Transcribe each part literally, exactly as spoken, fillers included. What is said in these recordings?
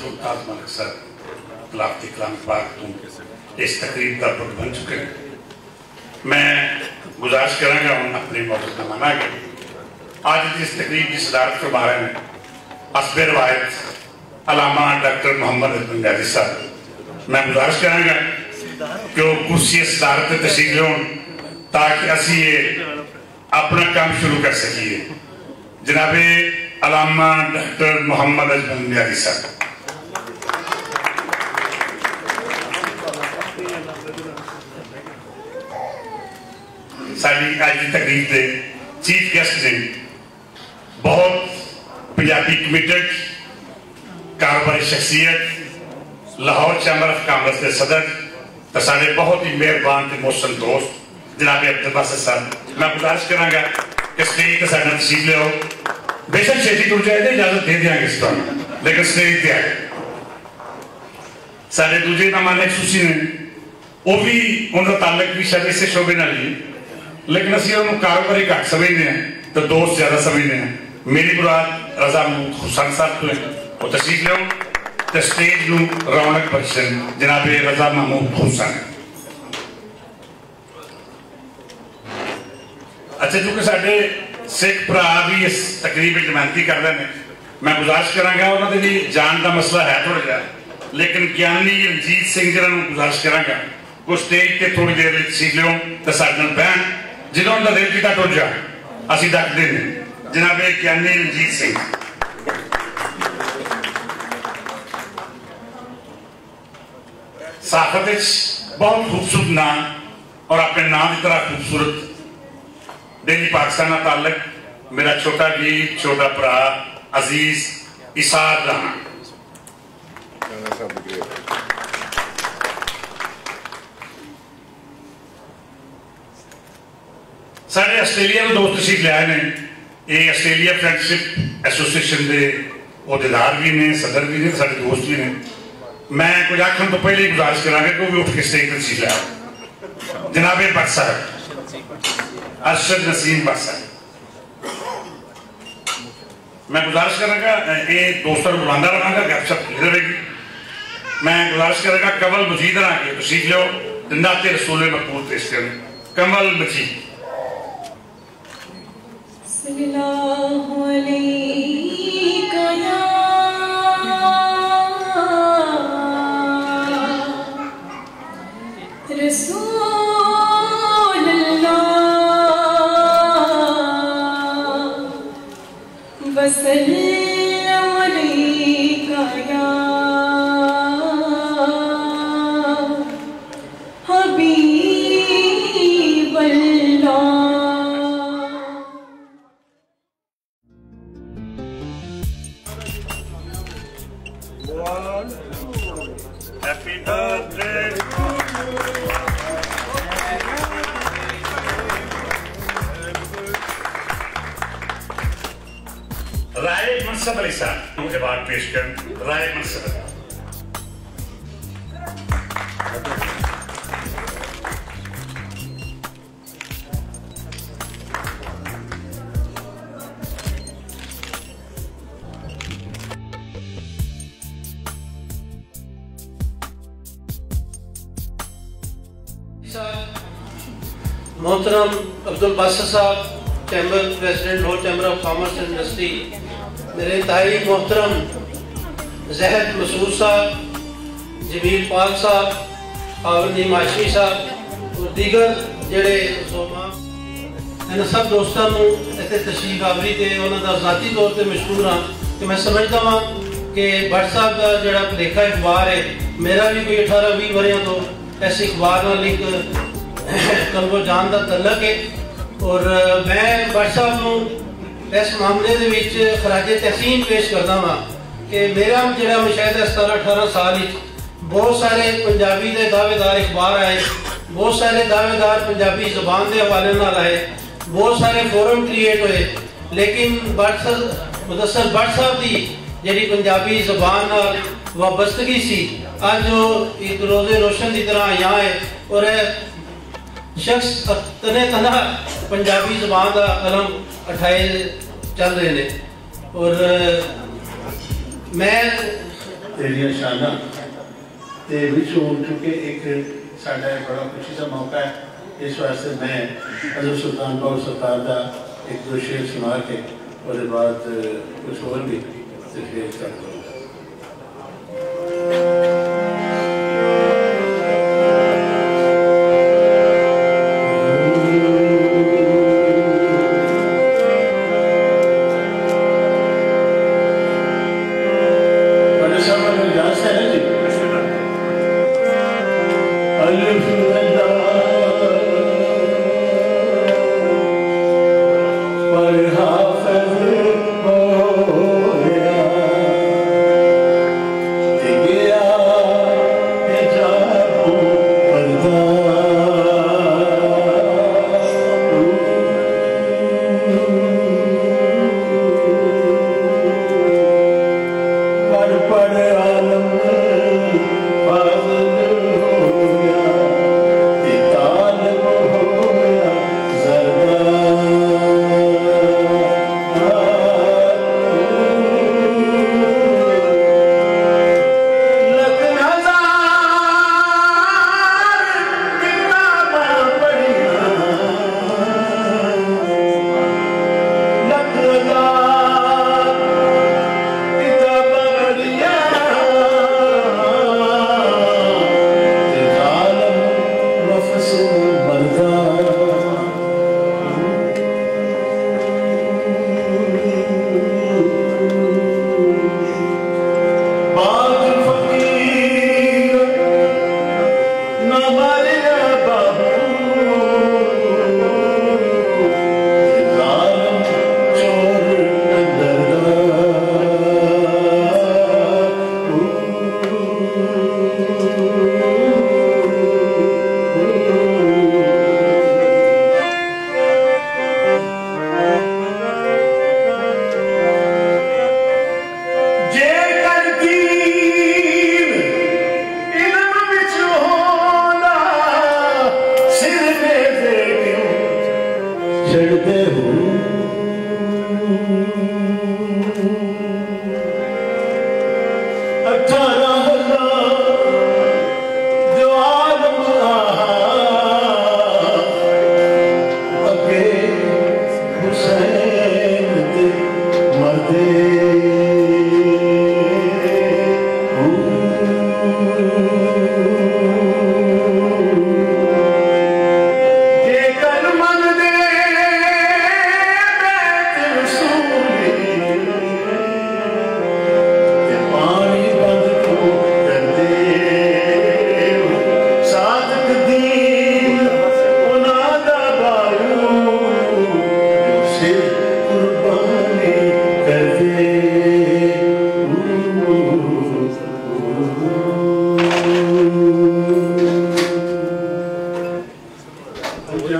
سلطان ملک صاحب تلاوت کلام پاک تو اس تقریب دا پروگرام بن چکے ہیں۔ میں گزارش کراں گا ہن اپنے موضوع دا مانا کہ اج دی اس تقریب دی صدارت فرما رہے ہیں حسب روایت علامہ ڈاکٹر محمد حسن نیازی صاحب۔ میں گزارش کراں گا کہ وہ کرسی صدارت تے تشریف لون تاکہ اسی یہ اپنا کام شروع کر سکیے۔ جناب علامہ ڈاکٹر محمد اجمل نیازی صاحب، ساری اج کی تقریب دے چیف گیسٹ نے، بہت پنجابی کمیٹڈ کاروباری شخصیت، لاہور چیمبر آف کامرس کے صدر، تے سارے بہت ہی مہربان تے محسن دوست جناب عبدالباسط صاحب، میں گزارش کراں گا کہ سٹیج تے سارے تشریف لیاؤ۔ بے شک چھیتی ٹر جائے تو اجازت دے دیاں گے اس طرح، لیکن سٹیج تے آئے۔ سارے دوجے مہمان ایک سوسی نے، وہ بھی، ان کا تعلق بھی شاید اسے شعبے نال ہی ہے، لیکن اسی انہوں کاروباری گھٹ سمجھنے ہیں تو دوست زیادہ سمجھنے ہیں۔ میری مراد رضا محمود حسن صاحب تو ہیں، وہ تشریف لیاؤ تے سٹیج نو رونق بخشن جناب رضا محمود حسن۔ اچھا، چونکہ ساڈے سکھ بھرا بھی اس تقریب وچ نمائندگی کر رہے ہیں، میں گزارش کراں گا، انہاں دے بھی جان دا مسئلہ ہے تھوڑا جہا، لیکن گیانی رنجیت سنگھ جنہاں نوں گزارش کراں گا، وہ سٹیج تے تھوڑی دیر وچ سیٹ لیو تے ساڈے نال بہن، جدوں انہاں دا دل کیتا ٹر جا، اسی ڈکدے نے۔ جناب گیانی رنجیت سنگھ۔ صحافت وچ بہت خوبصورت نام اور اپنے نام کی طرح خوبصورت ڈیلی پاکستان کا تعلق میرا چھوٹا جی، چھوٹا بھرا عزیز اسعد رانا۔ سارے آسٹریلیا دے دوست تشریف لے آئے نے۔ یہ آسٹریلیا فرینڈشپ ایسوسی ایشن دے عہدیدار بھی نے، صدر بھی نے، سارے دوست بھی نے۔ میں کچھ آخر تو پہلے ہی گزارش کراں گا کہ وہ بھی اٹھ کے سٹیج تے تشریف لے آؤ۔ جناب بٹ صاحب، ارشد نسیم بٹ صاحب۔ میں گزارش کراں گا، اے، اے دوستاں نوں بلاندا رہاں گا، گپ شپ ہوندی رہے گی۔ میں گزارش کراں گا، کنول مجید رہاں کے تشریف لیو، دندا تے رسول مقبول پیش کرن۔ کنول مجید۔ صلی اللہ علیک یا رسول اللہ۔ وسلم علیک یا حبیب اللہ۔ Happy birthday. Rai Mansab Ali صاحب نوں ایوارڈ پیش کرن۔ رائے منصب علی۔ محترم عبدالباسط صاحب، chamber president, Lahore chamber of commerce and industry, میرے انتہائی محترم زہد مسعود صاحب، جمیل پاک صاحب، اور ندیم ہاشمی صاحب اور دیگر جڑے زعما، انہاں سب دوستاں نوں اتھے تشریف آوری تے انہاں دا ذاتی طور تے مشکور ہاں کہ میں سمجھدا ہاں کہ بٹ صاحب دا جڑا لکھا اخبار ہے، میرا بھی کوئی اٹھارہ ویہہ وریاں تو اس اخبار نال ایک قلب و جان دا تعلق ہے۔ اور میں بٹ صاحب نوں اس معاملے دے وچ خراج تحسین پیش کردا ہاں کہ میرا جڑا مشاہدہ ستارہ اٹھارہ سال وچ بہت سارے پنجابی دے دعوے دار اخبار آئے، بہت سارے دعوے دار پنجابی زبان دے حوالے نال آئے، بہت سارے فورم کریئیٹ ہوئے، لیکن بٹ صاحب، مدثر بٹ صاحب دی جڑی پنجابی زبان نال وابستگی سی، اج وہ ایک روز روشن دی طرح آیا ہے اور شخص تنے تنہا پنجابی زبان دا قلم اٹھائے چل رہے نے۔ اور میں تیریاں شاناں تے وچوں، کیونکہ ایک ساڈا ایک بڑا خوشی دا موقع ہے، اس واسطے میں حضرت سلطان باہو سرکار دا ایک دو شعر سنا کے، اور بعد کچھ اور بھی تقریر کر دوں گا۔ بڑے صاحب نے اجازت ہے نا جی؟ الف لام پر حافظ ہویا۔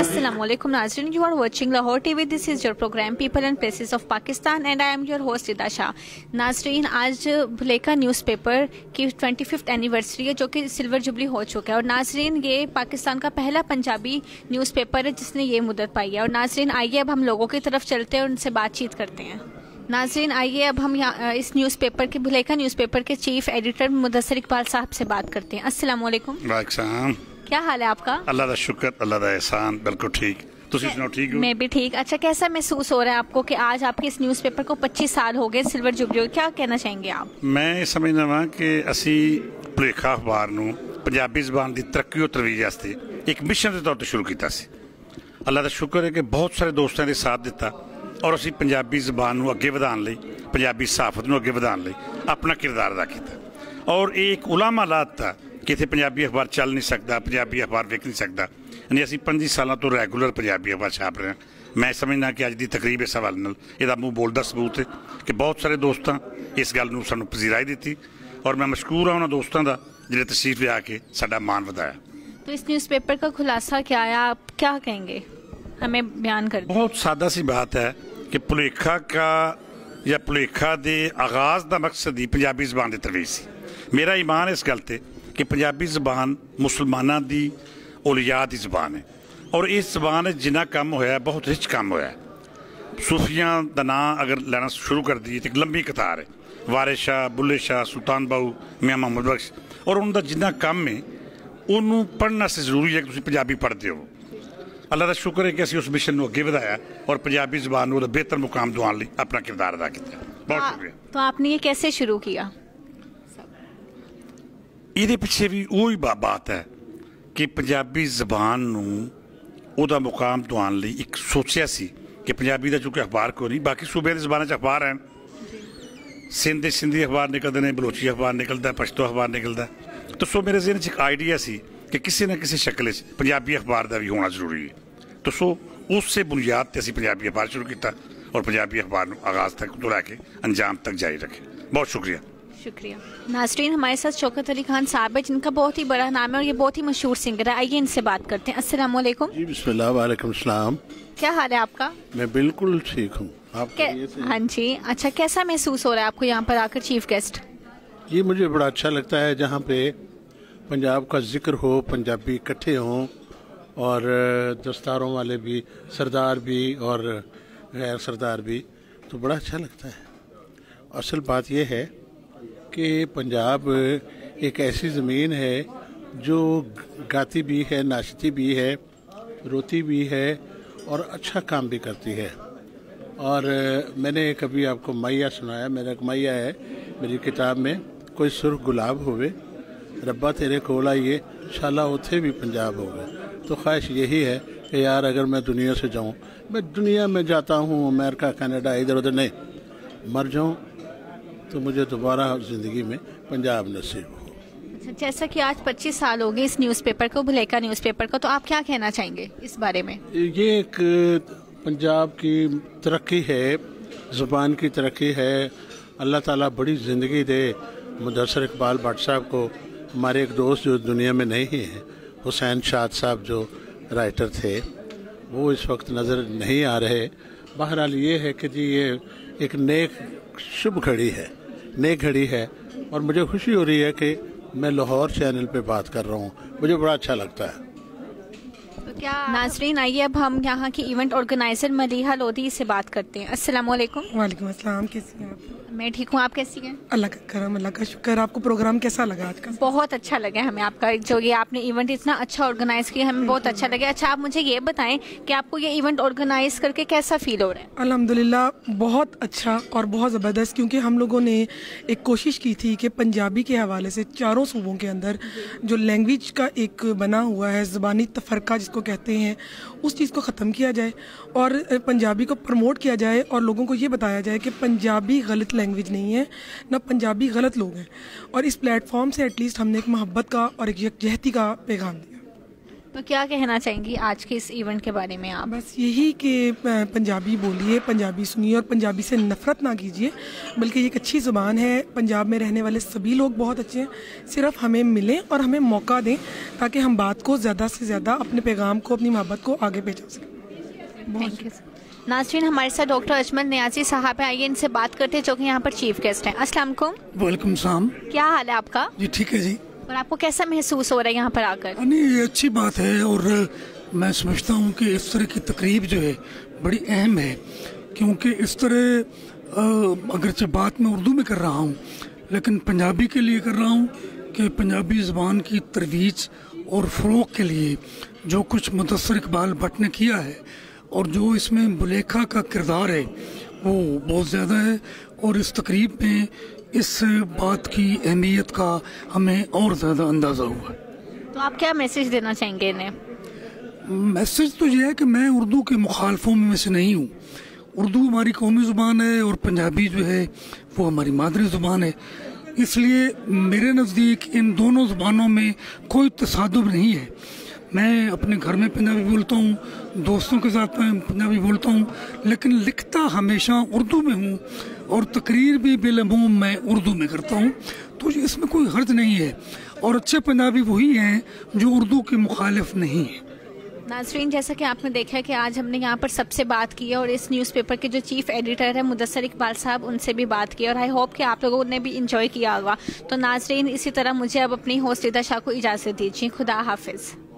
السلام علیکم ناظرین، you are watching Lahore T V. This is your program People and Places of Pakistan and I am your host Ida Shah. ناظرین، آج بھلیکا نیوز پیپر کی ٹوئنٹی ففتھ اینیورسری ہے، جو کہ سلور جوبلی ہو چکا ہے۔ اور ناظرین، یہ پاکستان کا پہلا پنجابی نیوز پیپر ہے جس نے یہ مدت پائی ہے۔ اور ناظرین، آئیے اب ہم لوگوں کی طرف چلتے ہیں اور ان سے بات چیت کرتے ہیں۔ ناظرین، آئیے اب ہم یہاں، اس نیوز پیپر کے، بھلیکا نیوز پیپر کے چیف ایڈیٹر مدثر اقبال صاحب سے بات کرتے ہیں۔ السلام علیکم۔ وعلیکم السلام۔ کیا حال ہے آپ کا؟ اللہ دا شکر، اللہ دا احسان، بالکل ٹھیک۔ تسی سناؤ، ٹھیک ہو؟ میں بھی ٹھیک۔ اچھا، کیسا محسوس ہو رہا ہے آپ کو کہ آج آپ کے اس نیوز پیپر کو پچیس سال ہو گئے، سلور جوبلی ہو گئی؟ کیا کہنا چاہیں گے آپ؟ میں یہ سمجھنا وا کہ اسی پلیکھا اخبار نو پنجابی زبان دی ترقی و ترویج واسطے ایک مشن دے طور تے شروع کیتا سی۔ اللہ دا شکر ہے کہ بہت سارے دوستاں نے ساتھ دتا اور اسی پنجابی زبان نو اگے ودھان لئی، پنجابی صحافت نو اگے ودھان لئی اپنا کردار ادا کیتا۔ اور یہ ایک علامہ لا دتا کہ اتھے پنجابی اخبار چل نہیں سکدا، پنجابی اخبار وک نہیں سکدا۔ یعنی اسی پنجی سالاں تو ریگولر پنجابی اخبار چھاپ رہے ہیں۔ میں سمجھنا کہ اج دی تقریب اس حوالے نال یہ منہ بولدا ثبوت ہے کہ بہت سارے دوستاں اس گل نوں سانوں پذیرائی دتی، اور میں مشکور ہاں انہاں دوستاں دا جنہیں تشریف لیا کے ساڈا مان ودایا۔ تو اس نیوز پیپر کا خلاصہ کیا ہے، آپ کیا کہیں گے؟ ہمیں بیان کر دیں۔ بہت سادہ سی بات ہے کہ پلیکھا کا یا پلیکھا دے آغاز دا مقصد ہی پنجابی زبان دے ترویج سی۔ میرا ایمان اس گل تے کہ پنجابی زبان مسلماناں دی اولیاء دی زبان ہے، اور اس زبان وچ جنہ کم ہویا ہے، بہت رچ کم ہویا ہے۔ صوفیاں دا ناں اگر لینا شروع کر دیے تو ایک لمبی قطار ہے۔ وارث شاہ، بلے شاہ، سلطان باؤ، میاں محمد بخش، اور ان دا جنہ کم ہے، انہوں پڑھنا سے ضروری ہے کہ تسی پنجابی پڑھتے ہو۔ اللہ دا شکر ہے کہ اسی اس مشن نوں اگے ودھایا اور پنجابی زبان نوں بہتر مقام دواؤن لئی اپنا کردار ادا کیتا۔ بہت شکریہ۔ تو آپ نے یہ کیسے شروع کیا؟ ایہدے پچھے وی اوہی با- بات ہے کہ پنجابی زبان نوں اوہدا مقام دواؤن لئی اک سوچیا سی کہ پنجابی دا چونکہ اخبار کوئی نہیں، باقی صوبے دی زباناں چ اخبار ہیں، سندھ دے سندھی اخبار نکلدے نے، بلوچی اخبار نکلدا ہے، پشتو اخبار نکلدا ہے۔ تو سو میرے ذہن چ اک آئیڈیا سی کہ کسے نہ کسے شکل وچ پنجابی اخبار دا وی ہونا ضروری ہے۔ تو سو اس سے بنیاد تے اسی پنجابی اخبار شروع کیتا اور پنجابی اخبار نوں آغاز تک تو لے کے انجام تک جاری رکھے۔ بہت شکریہ۔ شکریہ۔ ناظرین، ہمارے ساتھ شوکت علی خان صاحب ہیں، جن کا بہت ہی بڑا نام ہے اور یہ بہت ہی مشہور سنگر ہے۔ آئیے ان سے بات کرتے ہیں۔ السلام علیکم۔ جی، بسم اللہ، وعلیکم السلام۔ کیا حال ہے آپ کا؟ میں بالکل ٹھیک ہوں۔ آپ کہ- خیریت سے ہیں؟ ہاں جی۔ اچھا، کیسا محسوس ہو رہا ہے آپ کو یہاں پر آ کر چیف گیسٹ؟ جی، مجھے بڑا اچھا لگتا ہے جہاں پہ پنجاب کا ذکر ہو، پنجابی اکٹھے ہوں اور دستاروں والے بھی، سردار بھی اور غیر سردار بھی، تو بڑا اچھا لگتا ہے۔ اصل بات یہ ہے کہ پنجاب ایک ایسی زمین ہے جو گاتی بھی ہے، ناشتی بھی ہے، روتی بھی ہے اور اچھا کام بھی کرتی ہے۔ اور میں نے ایک ابھی آپ کو مائیا سنایا، میرا ایک مائیا ہے میری کتاب میں، کوئی سرخ گلاب ہوئے، ربا تیرے کول آئیے، شالا اوتھے بھی پنجاب ہوگا۔ تو خواہش یہی ہے کہ یار، اگر میں دنیا سے جاؤں، میں دنیا میں جاتا ہوں، امریکہ، کینیڈا، ادھر ادھر نہیں، مر جاؤں تو مجھے دوبارہ زندگی میں پنجاب نصیب ہو۔ اچھا، جیسا کہ آج پچیس سال ہو گئے اس نیوز پیپر کو، بلیکا نیوز پیپر کو، تو آپ کیا کہنا چاہیں گے اس بارے میں؟ یہ ایک پنجاب کی ترقی ہے، زبان کی ترقی ہے۔ اللہ تعالیٰ بڑی زندگی دے مدثر اقبال بٹ صاحب کو۔ ہمارے ایک دوست جو دنیا میں نہیں ہیں، حسین شاد صاحب جو رائٹر تھے، وہ اس وقت نظر نہیں آ رہے۔ بہرحال یہ ہے کہ جی، یہ ایک نیک شبھ گھڑی ہے، نیک گھڑی ہے، اور مجھے خوشی ہو رہی ہے کہ میں لاہور چینل پہ بات کر رہا ہوں، مجھے بڑا اچھا لگتا ہے۔ تو کیا ناظرین، آئیے اب ہم یہاں کی ایونٹ آرگنائزر ملیحہ لودھی سے بات کرتے ہیں۔ السلام علیکم۔ وعلیکم السلام، کیسی ہیں آپ؟ میں ٹھیک ہوں، آپ کیسی ہیں؟ اللہ کا کرم، اللہ کا شکر۔ آپ کو پروگرام کیسا لگا آج کا؟ بہت اچھا لگا ہمیں آپ کا، جو یہ آپ نے ایونٹ اتنا اچھا آرگنائز کیا، ہمیں بہت اچھا لگا۔ اچھا، آپ مجھے یہ بتائیں کہ آپ کو یہ ایونٹ آرگنائز کر کے کیسا فیل ہو رہا ہے؟ الحمدللہ، بہت اچھا اور بہت زبردست، کیونکہ ہم لوگوں نے ایک کوشش کی تھی کہ پنجابی کے حوالے سے چاروں صوبوں کے اندر جو لینگویج کا ایک بنا ہوا ہے، زبانی تفرقہ جس کو کہتے ہیں، اس چیز کو ختم کیا جائے اور پنجابی کو پروموٹ کیا جائے اور لوگوں کو یہ بتایا جائے کہ پنجابی غلط لینگویج نہیں ہے، نہ پنجابی غلط لوگ ہیں۔ اور اس پلیٹ فارم سے ایٹ لیسٹ ہم نے ایک محبت کا اور ایک یکجہتی کا پیغام دیا۔ تو کیا کہنا چاہیں گی آج کے اس ایونٹ کے بارے میں آپ؟ بس یہی کہ، آ، پنجابی بولیے، پنجابی سنیے اور پنجابی سے نفرت نہ کیجیے، بلکہ یہ ایک اچھی زبان ہے۔ پنجاب میں رہنے والے سبھی لوگ بہت اچھے ہیں، صرف ہمیں ملیں اور ہمیں موقع دیں تاکہ ہم بات کو زیادہ سے زیادہ، اپنے پیغام کو، اپنی محبت کو آگے پہنچا سکیں۔ بہت تھینک یو۔ ناظرین، ہمارے ساتھ ڈاکٹر اجمل نیازی صاحب ہیں، آئیے ان سے بات کرتے ہیں جو کہ یہاں پر چیف گیسٹ ہیں۔ السلام علیکم۔ وعلیکم السلام۔ کیا حال ہے آپ کا؟ جی، ٹھیک ہے جی۔ اور آپ کو کیسا محسوس ہو رہا ہے یہاں پر آ کر؟ نہیں، یہ اچھی بات ہے اور میں سمجھتا ہوں کہ اس طرح کی تقریب جو ہے، بڑی اہم ہے، کیونکہ اس طرح، آ، اگرچہ بات میں اردو میں کر رہا ہوں، لیکن پنجابی کے لیے کر رہا ہوں کہ پنجابی زبان کی ترویج اور فروغ کے لیے جو کچھ مدثر اقبال بٹ نے کیا ہے اور جو اس میں بلیکھا کا کردار ہے، وہ بہت زیادہ ہے اور اس تقریب میں اس بات کی اہمیت کا ہمیں اور زیادہ اندازہ ہوا۔ تو آپ کیا میسج دینا چاہیں گے انہیں؟ میسج تو یہ ہے کہ میں اردو کے مخالفوں میں سے نہیں ہوں۔ اردو ہماری قومی زبان ہے اور پنجابی جو ہے، وہ ہماری مادری زبان ہے۔ اس لیے میرے نزدیک ان دونوں زبانوں میں کوئی تصادم نہیں ہے۔ میں اپنے گھر میں پنجابی بولتا ہوں، دوستوں کے ساتھ میں پنجابی بولتا ہوں، لیکن لکھتا ہمیشہ اردو میں ہوں اور تقریر بھی بالعموم میں اردو میں کرتا ہوں۔ تو اس میں کوئی حرج نہیں ہے اور اچھے پنجابی وہی ہیں جو اردو کے مخالف نہیں ہیں۔ ناظرین، جیسا کہ آپ نے دیکھا کہ آج ہم نے یہاں پر سب سے بات کی ہے اور اس نیوز پیپر کے جو چیف ایڈیٹر ہیں مدثر اقبال صاحب، ان سے بھی بات کی، اور آئی ہوپ کہ آپ لوگوں نے بھی انجوائے کیا ہوگا۔ تو ناظرین، اسی طرح مجھے اب اپنی ہوسٹ ردا شاہ کو اجازت دیجیے۔ خدا حافظ۔